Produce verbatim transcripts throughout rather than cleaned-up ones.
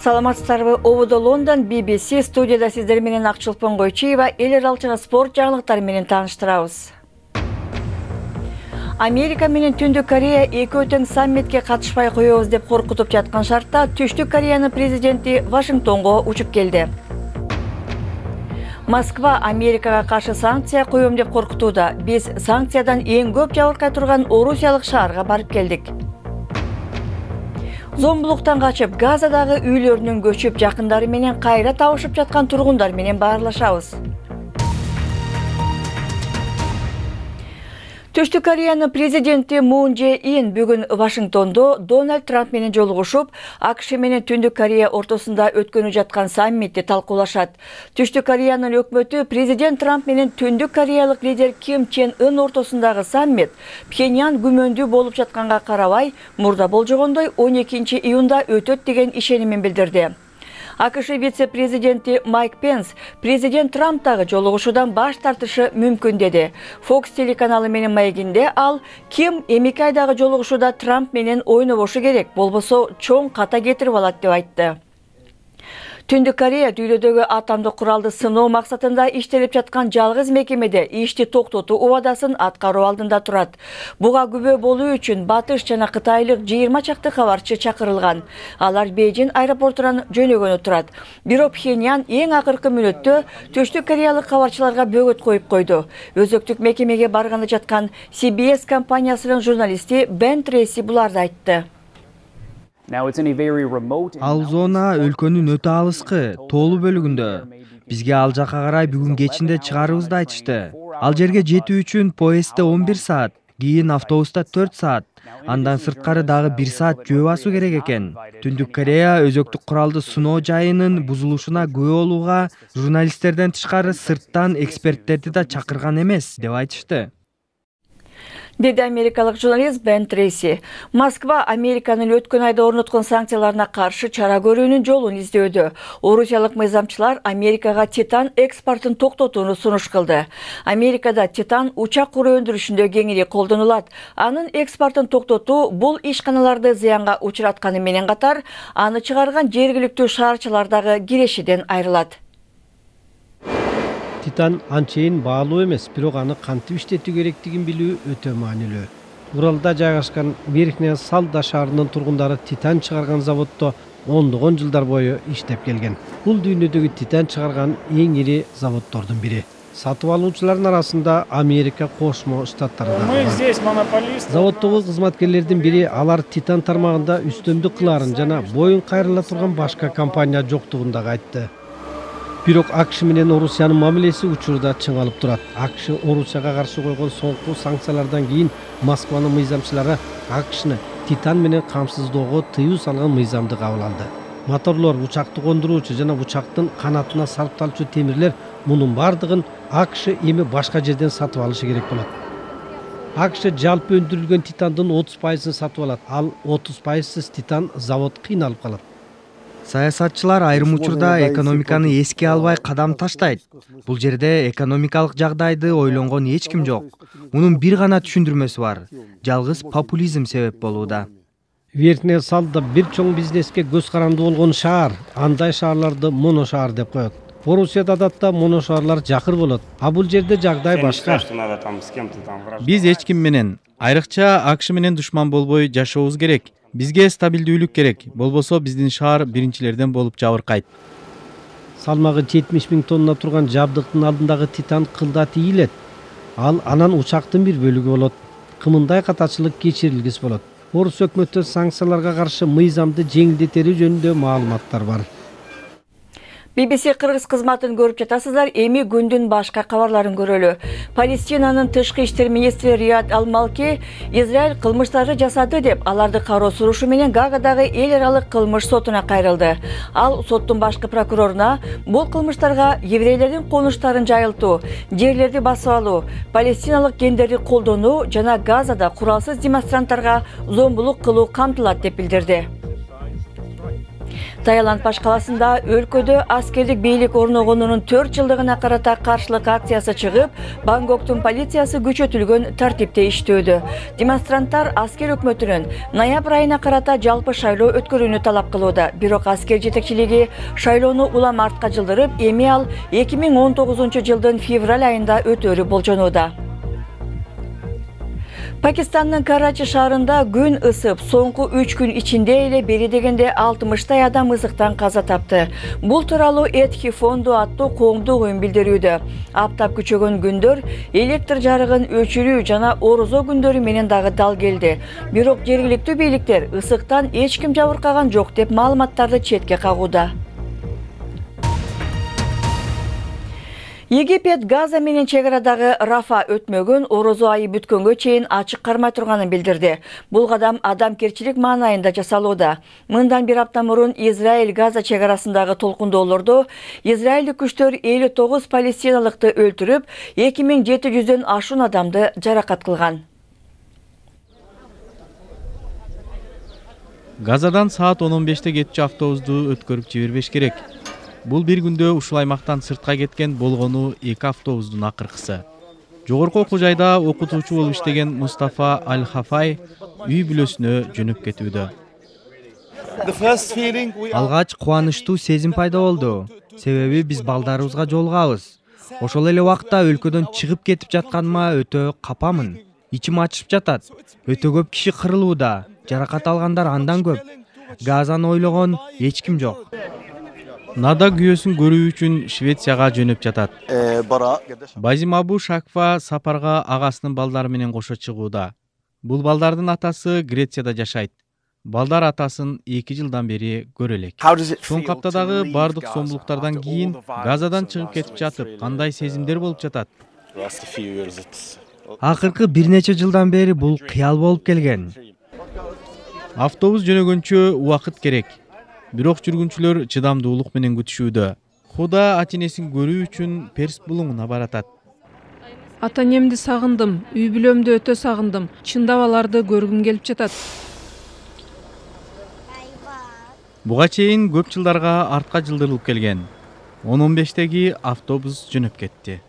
Саламатсыздарбы, Ободо Лондон, би би си студияда сиздер менен Акчылпон Койчиева эл аралык спорт жаңылыктары менен тааныштырабыз. Америка менен Түндүк Корея экөө тең саммитке катышпай коебуз деп коркутуп жаткан шартта Түштүк Кореянын президенти Вашингтонго учуп келди. Москва Америкага каршы санкция коем деп коркутууда. Биз санкциядан эң көп жабыркай турган Орусиялык шаарга барып келдик. Зомбулуктан качып, Газадагы үйлөрүнөн көчүп, жакындары менен кайра табышып жаткан тургундар менен баарлашабыз. Түштүк Кореянын президенти Мун Же Ин бүгүн Вашингтондо Дональд Трамп менен жолугушуп, АКШ менен Түндүк Корея ортосунда өткөнү жаткан саммитти талкуулашат. Түштүк Кореянын өкмөтү президент Трамп менен Түндүк Кореялык лидер Ким Чен Ын ортосундагы саммит Пхеньян күмөндүү болуп жатканга карабай, мурда болжогондой он экинчи июнда өтөт деген ишенимин билдирди. АКШ вице-президенти Майк Пенс президент Трамптагы жолугушуудан баш тартышы мүмкүн деди. Fox телеканалы менен маегинде ал Ким эми айдагы жолугушууда Трамп менен ойнобошу керек, болбосо чоң ката кетирип алат деп айтты. Түндүк Корея дүйнөдөгү атомдук куралды сыноо максатында иштелип жаткан жалгыз мекемеде ишти токтотуу убадасын аткаруу алдында турат. Буга күбө болуу үчүн Батыш жана Кытайлык жыйырма чакты кабарчы чакырылган. Алар Бейжин аэропортунан жөнөгөнү турат. Бирок Пхеньян эң акыркы мүнөттө Түштүк Кореялык кабарчыларга бөгөт коюп койду. Өзөктүк мекемеге барганы жаткан Си Би Эс компаниясынын журналисти Бен Трейси буларды айтты. Ал зона өлкөнүн өтө алыскы, тоолуу бөлүгүндө. Бизге ал жака карай бүгүн кечинде чыгарыбызды айтышты. Ал жерге жетүү үчүн поездде он бир саат, кийин автобуста төрт саат, андан сырткары дагы бир саат жөө басуу керек экен. Түндүк Корея өзөктүк куралды сыноо жайынын бузулушуна күбө болууга журналисттерден тышкары сырттан эксперттерди да чакырган эмес деп айтышты. Деди америкалык журналист Бен Трейси. Москва Американын өткөн айда орноткон санкцияларына каршы чара көрүүнүн жолун издөдү. Орусиялык мыйзамчылар Америкага титан экспортун токтотууну сунуш кылды. Америкада титан учак куру өндүрүшүндө кеңири колдонулат. Анын экспортун токтотуу бул ишканаларды зыянга учуратканы менен катар, аны чыгарган жергиликтүү шаарчылар дагы кирешиден айрылат. Титан анчейин баалуу эмес, бирок аны кантип иштетүү керектигин билүү өтө маанилүү. Уралда жайгашкан Верхняя Салда шаарынын тургундары титан чыгарган заводдо ондогон жылдар бою иштеп келген. Бул дүйнөдөгү титан чыгарган эң ири заводдордун бири. Сатып алуучулардын арасында Америка Кошмо Штаттары да бар. Заводдогу кызматкерлердин бири алар титан тармагында үстөмдүк кылаарын жана боюн кайрыла турган башка компания жоктугун дагы айтты. Бирок АКШ менен Орусиянын мамилеси учурда чыңалып турат. АКШ Орусияга каршы койгон соңку санкциялардан кийин Москванын мыйзамчылары АКШны титан менен камсыздоого тыюу салган мыйзамды кабыл алды. Моторлор, учакты кондуруучу жана учактын канатына сарпталчу темирлер мунун бардыгын АКШ эми башка жерден сатып алышы керек болот. АКШ жалпы өндүрүлгөн титандын отуз пайызын сатып алат. Ал отуз пайызсыз титан завод кыйналып калат. Саясатчылар айрым учурда экономиканы эске албай кадам таштайт. Бул жерде экономикалык жагдайды ойлонгон эч ким жок. Мунун бир гана түшүндүрмөсү бар. Жалгыз популизм себеп болууда. Верхняя Салда бир чоң бизнеске көз каранды болгон шаар. Андай шаарларды моношаар деп коет. Орусияда адатта моношаарлар жакыр болот. А бул жерде жагдай башка. Биз эч ким менен, айрыкча АКШ менен душман болбой жашообуз керек. Бизге стабилдүүлүк керек, болбосо биздин шаар биринчилерден болуп жабыркайт. Салмагы жетимиш миң тонна турган жабдыктын алдындагы титан кылда тийилет. Ал анан учактын бир бөлүгү болот. Кымындай катачылык кечирилгис болот. Орус өкмөтү санкцияларга каршы мыйзамды жеңилдетери жөнүндө маалыматтар бар. би би си кыргыз кызматын көрүп жатасыздар. Эми күндүн башка кабарларын көрөлү. Палестинанын тышкы иштер министри Рияд Ал-Малки Израиль кылмыштарды жасады деп аларды кароо сурушу менен Гаагадагы эл аралык кылмыш сотуна кайрылды. Ал соттун башкы прокуроруна бул кылмыштарга еврейлердин конуштарын жайылтуу, жерлерди басып алуу, палестиналык гендерди колдонуу жана Газада куралсыз демонстранттарга зомбулук кылуу камтылат деп билдирди. Таиланд баш каласында өлкөдө аскердик бийлик орногонунун төрт жылдыгына карата каршылык акциясы чыгып, Бангкоктун полициясы күчөтүлгөн тартипте иштөөдө. Демонстранттар аскер өкмөтүнүн ноябрь айына карата жалпы шайлоо өткөрүүнү талап кылууда. Бирок аскер жетекчилиги шайлоону улам артка жылдырып, эми ал эки миң он тогузунчу жылдын февраль айында өтөөрү болжонууда. Пакистандын Карачи шаарында күн ысып, соңку үч күн ичинде эле бери дегенде алтымыштай адам ысыктан каза тапты. Бул тууралуу Этхи фонду аттуу коомдук уюм билдирүүдө. Аптап күчөгөн күндөр электр жарыгын өчүрүү жана орозо күндөрү менен дагы дал келди. Бирок жергиликтүү бийликтер ысыктан эч ким жабыркаган жок деп маалыматтарды четке кагууда. Египет Газа менен чек арадагы Рафа өтмөгөн орозо айы бүткөнгө чейин ачык кармай турганын билдирди. Бул кадам адамгерчилик маанайында жасалууда. Мындан бир апта мурун Израиль Газа чек арасындагы толкундоолордо Израилдик күчтөр элүү тогуз палестиналыкты өлтүрүп, эки миң жети жүздөн ашуун адамды жаракат кылган. Газадан саат он он беште кетчү автобусту өткөрүп жибербеш керек. Бул бир күндө ушул аймактан сыртка кеткен болгону эки автобустун акыркысы. Жогорку окуу жайда окутуучу болуп иштеген Мустафа Аль-Хафай үй бүлөсүнө жөнөп кетүүдө. Алгач кубанычтуу сезим пайда болду. Себеби биз балдарыбызга жолугабыз. Ошол эле убакта өлкөдөн чыгып кетип жатканыма өтө капамын. Ичим ачышып жатат. Өтө көп киши кырылууда. Жаракат алгандар андан көп. Газаны ойлогон эч ким жок. Нада күйөөсүн көрүү үчүн Швецияга жөнөп жатат. Базим Абу Шакфа сапарга агасынын балдары менен кошо чыгууда. Бул балдардын атасы Грецияда жашайт. Балдар атасын эки жылдан бери көрө элек. Соңку аптадагы бардык зомбулуктардан кийин Газадан чыгып кетип жатып, кандай сезимдер болуп жатат? Акыркы бир нече жылдан бери бул кыял болуп келген. Автобус жөнөгөнчө убакыт керек. Бирок жүргүнчүлөр чыдамдуулук менен күтүшүүдө. Худа ата-энесин көрүү үчүн Перс булуңуна баратат. Ата-энемди сагындым, үй бүлөмдү өтө сагындым. Чындап аларды көргүм келип жатат. Буга чейин көп жылдарга артка жылдырылып келген. он он бештеги автобус жөнөп кетти.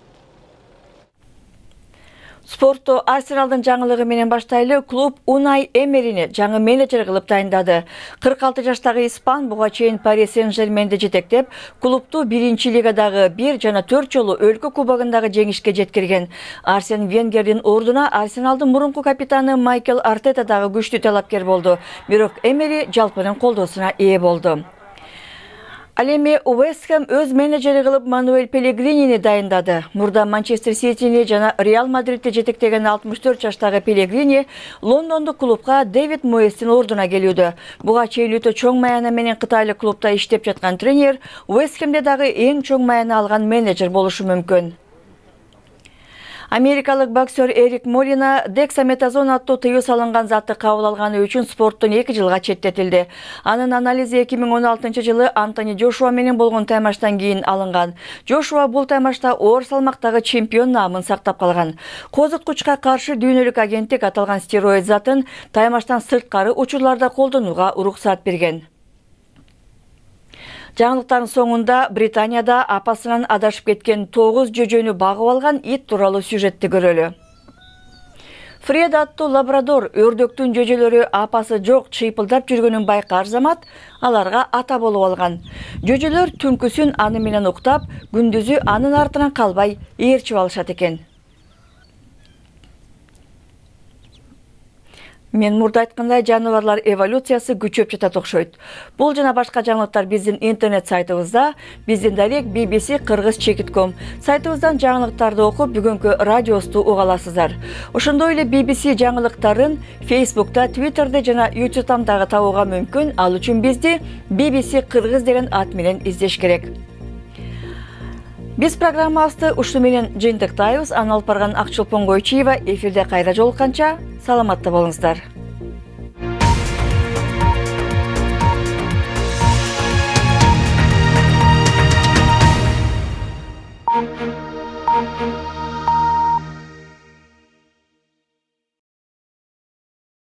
Спортту Арсеналдын жаңылыгы менен баштайлы. Клуб Унай Эмерини жаңы менеджер кылып тайындады. кырк алты жаштагы испан буга чейин Пари Сен-Жерменди жетектеп, клубту биринчи лигадагы бир жана төрт жолу өлкө кубогундагы жеңишке жеткирген. Арсен Венгердин ордуна Арсеналдын мурунку капитаны Майкл Артета дагы күчтүү талапкер болду. Бирок Эмери жалпынын колдоосуна ээ болду. Ал эми Уэст Хэм өз менеджери кылып Мануэль Пелегринини дайындады. Мурда Манчестер Ситини жана Реал Мадридти жетектеген алтымыш төрт жаштагы Пелегрини Лондондук клубка Дэвид Моэстин ордуна келүүдө. Буга чейин өтө чоң маяна менен кытайлык клубда иштеп жаткан тренер Уэст Хэмде дагы эң чоң маяна алган менеджер болушу мүмкүн. Америкалык боксер Эрик Молина дексаметазон аттуу тыюу салынган затты кабыл алганы үчүн спорттон эки жылга четтетилди. Анын анализи эки миң он алтынчы жылы Антони Джошуа менен болгон таймаштан кийин алынган. Джошуа бул таймашта оор салмактагы чемпион наамын сактап калган. Козуткучка каршы дүйнөлүк агенттик аталган стероид затын таймаштан сырткары учурларда колдонууга уруксат берген. Жаңылыктардын соңунда Британияда апасынан адашып кеткен тогуз жөжөнү багып алган ит тууралуу сюжетти көрөлү. Фред аттуу лабрадор өрдөктүн жөжөлөрү апасы жок чыйпылдап жүргөнүн байкар замат аларга ата болуп алган. Жөжөлөр түнкүсүн аны менен уктап, күндүзү анын артынан калбай ээрчип алышат экен. Мен мурда айткандай, жаныбарлар эволюциясы күчөп жатат окшойт. Бул жана башка жаңылыктар биздин интернет сайтыбызда, биздин дарек би би си кыргыз чекит точка ком сайтыбыздан жаңылыктарды окуп, бүгүнкү радиосту уга аласыздар. Ошондой эле би би си жаңылыктарын Facebook'та, Twitter'де жана YouTube'дан дагы табууга мүмкүн. Ал үчүн бизди би би си кыргыз деген ат менен издеш керек. Биз программабызды ушуну менен жыйынтыктайбыз. Аны алып барган Акчолпон Койчиева. Эфирде кайра жолукканча саламатта болуңуздар.